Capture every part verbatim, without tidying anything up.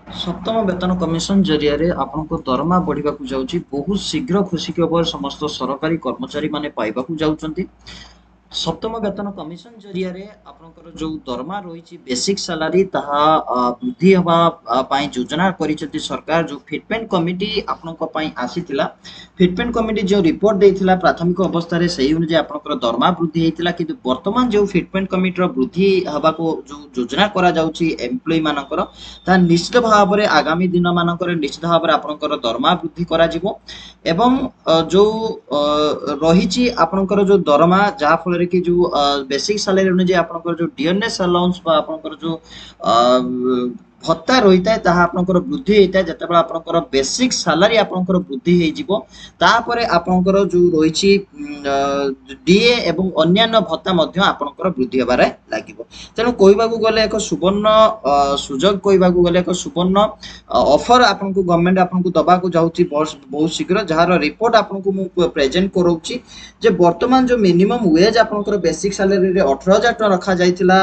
ସପ୍ତମ ବେତନ କମିଶନ ଜରିଆରେ ଆପଣଙ୍କ ଦରମା ବଢ଼ିବାକୁ ଯାଉଛି। ବହୁତ ଶୀଘ୍ର ଖୁସି ଖବର ସମସ୍ତ ସରକାରୀ କର୍ମଚାରୀମାନେ ପାଇବାକୁ ଯାଉଛନ୍ତି। ସପ୍ତମ ବେତନ କମିଶନ ଜରିଆରେ ଆପଣଙ୍କର ଯୋଉ ଦରମା ରହିଛି, ବେସିକ ସାଲାରୀ, ତାହା ବୃଦ୍ଧି ହେବା ପାଇଁ ଯୋଜନା କରିଛନ୍ତି ସରକାର। ଯୋଉ ଫିଟମେଣ୍ଟ କମିଟି ଆପଣଙ୍କ ପାଇଁ ଆସିଥିଲା, ଫିଟମେଣ୍ଟ କମିଟି ଯେଉଁ ରିପୋର୍ଟ ଦେଇଥିଲା ପ୍ରାଥମିକ ଅବସ୍ଥାରେ, ସେଇ ଅନୁଯାୟୀ ଆପଣଙ୍କର ଦରମା ବୃଦ୍ଧି ହେଇଥିଲା। କିନ୍ତୁ ବର୍ତ୍ତମାନ ଯେଉଁ ଫିଟମେଣ୍ଟ କମିଟିର ବୃଦ୍ଧି ହେବାକୁ ଯୋଉ ଯୋଜନା କରାଯାଉଛି ଏମ୍ପ୍ଲୟି ମାନଙ୍କର, ତାହା ନିଶ୍ଚିତ ଭାବରେ ଆଗାମୀ ଦିନ ମାନଙ୍କରେ ନିଶ୍ଚିତ ଭାବରେ ଆପଣଙ୍କର ଦରମା ବୃଦ୍ଧି କରାଯିବ। ଏବଂ ଯୋଉ ରହିଛି ଆପଣଙ୍କର ଯୋଉ ଦରମା, ଯାହା ଫଳରେ କି ଯୋଉ ବେସିକ ସାଲାରୀ ଅନୁଯାୟୀ ଆପଣଙ୍କର ଯୋଉ ଡିଅରନେସ୍ ଆଲାଉନ୍ସ ବା ଆପଣଙ୍କର ଯୋଉ ଭତ୍ତା ରହିଥାଏ, ତାହା ଆପଣଙ୍କର ବୃଦ୍ଧି ହେଇଥାଏ। ଯେତେବେଳେ ଆପଣଙ୍କର ବେସିକ ସାଲାରୀ ଆପଣଙ୍କର ବୃଦ୍ଧି ହେଇଯିବ, ତାପରେ ଆପଣଙ୍କର ଯୋଉ ରହିଛି ଡିଏ ଏବଂ ଅନ୍ୟାନ୍ୟ ଭତ୍ତା ମଧ୍ୟ ଆପଣଙ୍କର ବୃଦ୍ଧି ହେବାରେ ଲାଗିବ। ତେଣୁ କହିବାକୁ ଗଲେ ଏକ ସୁବର୍ଣ୍ଣ ସୁଯୋଗ, କହିବାକୁ ଗଲେ ଏକ ସୁବର୍ଣ୍ଣ ଅଫର ଆପଣଙ୍କୁ ଗଭର୍ଣ୍ଣମେଣ୍ଟ ଆପଣଙ୍କୁ ଦବାକୁ ଯାଉଛି ବହୁତ ଶୀଘ୍ର, ଯାହାର ରିପୋର୍ଟ ଆପଣଙ୍କୁ ମୁଁ ପ୍ରେଜେଣ୍ଟ କରାଉଛି ଯେ ବର୍ତ୍ତମାନ ଯୋଉ ମିନିମମ୍ ୱେଜ୍ ଆପଣଙ୍କର ବେସିକ ସାଲାରୀରେ ଅଠର ହଜାର ଟଙ୍କା ରଖାଯାଇଥିଲା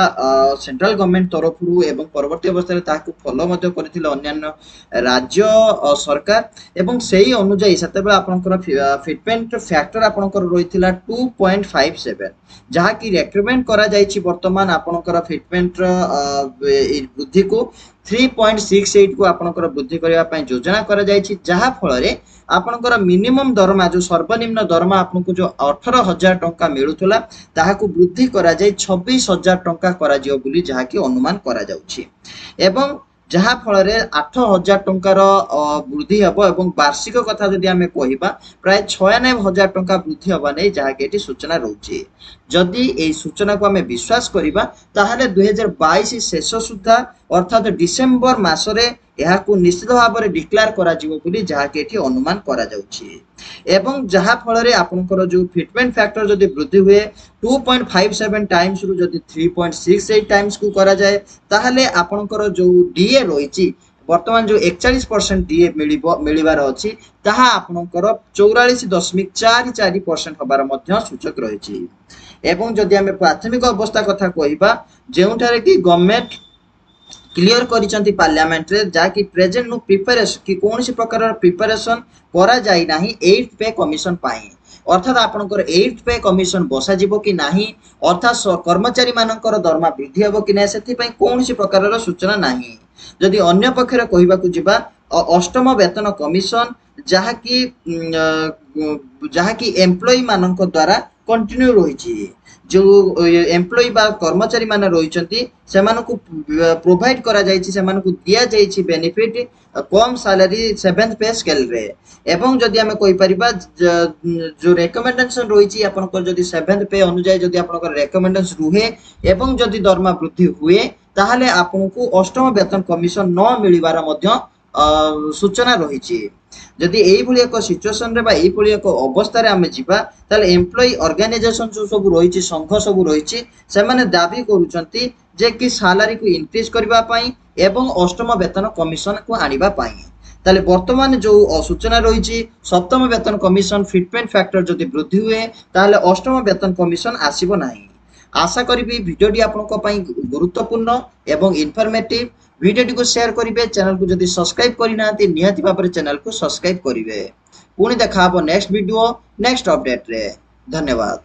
ସେଣ୍ଟ୍ରାଲ ଗଭର୍ଣ୍ଣମେଣ୍ଟ ତରଫରୁ ଏବଂ ପରବର୍ତ୍ତୀ ଅବସ୍ଥାରେ ତାହାକୁ ଫଲୋ ମଧ୍ୟ କରିଥିଲେ ଅନ୍ୟାନ୍ୟ ରାଜ୍ୟ ସରକାର, ଏବଂ ସେଇ ଅନୁଯାୟୀ ସେତେବେଳେ ଆପଣଙ୍କର ଫିଟମେଣ୍ଟ ଫ୍ୟାକ୍ଟର ଆପଣଙ୍କର ରହିଥିଲା ଟୁ ପଏଣ୍ଟ ଫାଇଭ ସେଭେନ, ଯାହାକି ରେକମେଣ୍ଡ କରାଯାଇଛି ବର୍ତ୍ତମାନ ଆପଣଙ୍କର ଫିଟମେଣ୍ଟର ବୃଦ୍ଧିକୁ ଥ୍ରୀ ପଏଣ୍ଟ ସିକ୍ସ ଏଇଟକୁ ଆପଣଙ୍କର ବୃଦ୍ଧି କରିବା ପାଇଁ ଯୋଜନା କରାଯାଇଛି, ଯାହା ଫଳରେ ଆପଣଙ୍କର ମିନିମମ୍ ଦରମା, ଯୋଉ ସର୍ବନିମ୍ନ ଦରମା ଆପଣଙ୍କୁ ଯୋଉ ଅଠର ହଜାର ଟଙ୍କା ମିଳୁଥିଲା, ତାହାକୁ ବୃଦ୍ଧି କରାଯାଇ ଛବିଶ ହଜାର ଟଙ୍କା କରାଯିବ ବୋଲି ଯାହାକି ଅନୁମାନ କରାଯାଉଛି, ଏବଂ ଯାହା ଫଳରେ ଆଠ ହଜାର ଟଙ୍କାର ବୃଦ୍ଧି ହେବ। ଏବଂ ବାର୍ଷିକ କଥା ଯଦି ଆମେ କହିବା, ପ୍ରାୟ ଛୟାନବେ ହଜାର ଟଙ୍କା ବୃଦ୍ଧି ହେବା ନେଇ ଯାହାକି ଏଠି ସୂଚନା ରହୁଛି। ଯଦି ଏଇ ସୂଚନାକୁ ଆମେ ବିଶ୍ୱାସ କରିବା, ତାହେଲେ ଦୁଇ ହଜାର ବାଇଶ ଶେଷ ସୁଦ୍ଧା, ଅର୍ଥାତ୍ ଡିସେମ୍ବର ମାସରେ ଏହାକୁ ନିଶ୍ଚିତ ଭାବରେ ଡିକ୍ଲେୟାର କରାଯିବ ବୋଲି ଯାହାକି ଏଠି ଅନୁମାନ କରାଯାଉଛି। ଏବଂ ଯାହା ଫଳରେ ଆପଣଙ୍କର ଯୋଉ ଫିଟମେଣ୍ଟ ଫ୍ୟାକ୍ଟର ଯଦି ବୃଦ୍ଧି ହୁଏ, ଟୁ ପଏଣ୍ଟ ଫାଇଭ ସେଭେନ ଟାଇମ୍ସରୁ ଯଦି ଥ୍ରୀ ପଏଣ୍ଟ ସିକ୍ସ ଏଇଟ୍ ଟାଇମ୍ସକୁ କରାଯାଏ, ତାହେଲେ ଆପଣଙ୍କର ଯୋଉ ଡିଏ ରହିଛି, ବର୍ତ୍ତମାନ ଯୋଉ ଏକଚାଳିଶ ପରସେଣ୍ଟ ଡିଏ ମିଳିବ ମିଳିବାର ଅଛି, ତାହା ଆପଣଙ୍କର ଚଉରାଳିଶ ଦଶମିକ ଚାରି ଚାରି ପରସେଣ୍ଟ ହେବାର ମଧ୍ୟ ସୂଚକ ରହିଛି। ଏବଂ ଯଦି ଆମେ ପ୍ରାଥମିକ ଅବସ୍ଥା କଥା କହିବା, ଯେଉଁଠାରେ କି ଗଭର୍ଣ୍ଣମେଣ୍ଟ କ୍ଲିୟର କରିଛନ୍ତି ପାର୍ଲାମେଣ୍ଟରେ, ଯାହାକି ପ୍ରେଜେଣ୍ଟ ନୋ ପ୍ରିପାରେସନ କି କୌଣସି ପ୍ରକାରର ପ୍ରିପାରେସନ କରାଯାଇ ନାହିଁ ଏଇଟ୍ ପେ କମିଶନ ପାଇଁ, ଅର୍ଥାତ୍ ଆପଣଙ୍କର ଏଇଟ୍ ପେ କମିଶନ ବସାଯିବ କି ନାହିଁ, ଅର୍ଥାତ୍ କର୍ମଚାରୀ ମାନଙ୍କର ଦରମା ବୃଦ୍ଧି ହେବ କି ନାହିଁ, ସେଥିପାଇଁ କୌଣସି ପ୍ରକାରର ସୂଚନା ନାହିଁ। ଯଦି ଅନ୍ୟ ପକ୍ଷରେ କହିବାକୁ ଯିବା, ଅଷ୍ଟମ ବେତନ କମିଶନ ଯାହାକି ଯାହାକି ଏମ୍ପ୍ଲୟି ମାନଙ୍କ ଦ୍ୱାରା କଣ୍ଟିନ୍ୟୁ ରହିଛି, ଯୋଉ ଏମ୍ପ୍ଲୟି ବା କର୍ମଚାରୀ ମାନେ ରହିଛନ୍ତି, ସେମାନଙ୍କୁ ପ୍ରୋଭାଇଡ କରାଯାଇଛି, ସେମାନଙ୍କୁ ଦିଆଯାଇଛି ବେନିଫିଟ କମ୍ ସାଲାରୀ ସେଭେନ୍ଥ ପେ ସ୍କେଲରେ। ଏବଂ ଯଦି ଆମେ କହିପାରିବା, ଯୋଉ ରେକମେଣ୍ଡେସନ ରହିଛି ଆପଣଙ୍କର, ଯଦି ସେଭେନ୍ଥ ପେ ଅନୁଯାୟୀ ଯଦି ଆପଣଙ୍କର ରେକମେଣ୍ଡେସନ ରୁହେ ଏବଂ ଯଦି ଦରମା ବୃଦ୍ଧି ହୁଏ, ତାହେଲେ ଆପଣଙ୍କୁ ଅଷ୍ଟମ ବେତନ କମିଶନ ନ ମିଳିବାର ମଧ୍ୟ ସୂଚନା ରହିଛି। ଯଦି ଏଇଭଳି ଏକ ସିଚୁଏସନରେ ବା ଏଇଭଳି ଏକ ଅବସ୍ଥାରେ ଆମେ ଯିବା, ତାହେଲେ ଏମ୍ପ୍ଲୟି ଅର୍ଗାନାଇଜେସନ ଯୋଉ ସବୁ ରହିଛି, ସଂଘ ସବୁ ରହିଛି, ସେମାନେ ଦାବି କରୁଛନ୍ତି ଯେ କି ସାଲାରୀକୁ ଇନକ୍ରିଜ କରିବା ପାଇଁ ଏବଂ ଅଷ୍ଟମ ବେତନ କମିଶନକୁ ଆଣିବା ପାଇଁ। ତାହେଲେ ବର୍ତ୍ତମାନ ଯୋଉ ସୂଚନା ରହିଛି, ସପ୍ତମ ବେତନ କମିଶନ ଫିଟମେଣ୍ଟ ଫ୍ୟାକ୍ଟର ଯଦି ବୃଦ୍ଧି ହୁଏ, ତାହେଲେ ଅଷ୍ଟମ ବେତନ କମିଶନ ଆସିବ ନାହିଁ। ଆଶା କରିବି ଭିଡ଼ିଓଟି ଆପଣଙ୍କ ପାଇଁ ଗୁରୁତ୍ୱପୂର୍ଣ୍ଣ ଏବଂ ଇନଫର୍ମେଟିଭ। ଭିଡ଼ିଓଟିକୁ ସେୟାର କରିବେ, ଚ୍ୟାନେଲକୁ ଯଦି ସବସ୍କ୍ରାଇବ କରିନାହାନ୍ତି, ନିହାତି ଭାବରେ ଚ୍ୟାନେଲକୁ ସବସ୍କ୍ରାଇବ କରିବେ। ପୁଣି ଦେଖା ହବ ନେକ୍ସଟ ଭିଡ଼ିଓ, ନେକ୍ସଟ ଅପଡେଟରେ। ଧନ୍ୟବାଦ।